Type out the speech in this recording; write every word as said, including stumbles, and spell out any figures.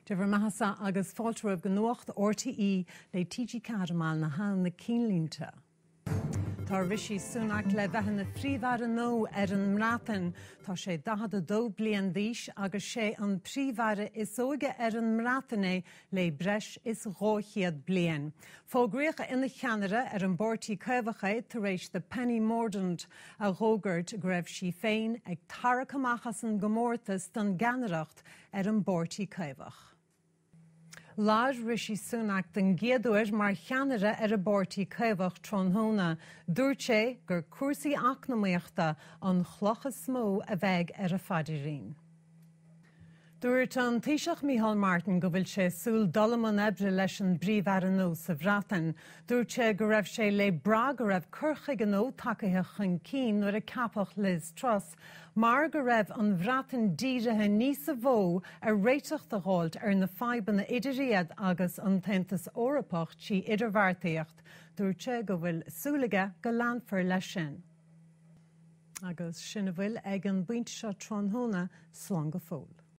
Dia bhur mbeathasa agus fáilte romhaibh go Nuacht RTÉ le TG Ceathair na na cinnlínte. Tá Rishi Sunak le bheith ina phríomh-aire nua ar an mBreatain. Tá sé daichead a dó bliain d'aois agus sé an príomh-aire is óige ar an mBreatain é le breis is dhá chéad bliain. Fógraíodh ina cheannaire ar an bPáirtí Caomhach é tar éis do Penny Mordaunt a fhógairt go raibh sí féin ag tarraingt amach as an gcomórtas don gceannaireacht ar an bPáirtí Caomhach. Labhair Rishi Sunak den gcéad uair mar cheannaire ar an bPáirtí Caomhach tráthnóna. Dúirt sé gur cúrsaí eacnamaíochta an chloch is mó a bheidh ar a phaidrín. Dúirt an Taoiseach Micheál Martin go bhfuil sé ag súil dul i mbun oibre leis an bPríomh-Aire nua sa Bhreatain. Dúirt sé go raibh sé le brath go raibh cur chuige nua tagtha chun cinn nuair a ceapadh Liz Truss, mar go raibh an Bhreatain dírithe níos mó ar réiteach a fháil ar na fadhbanna idir iad agus an tAontas Eorpach trí idirbheartaíocht. Dúirt sé go bhfuil súil aige go leanfar leis sin. Agus sin a bhfuil ag an bpointe seo tráthnóna slán go fóill.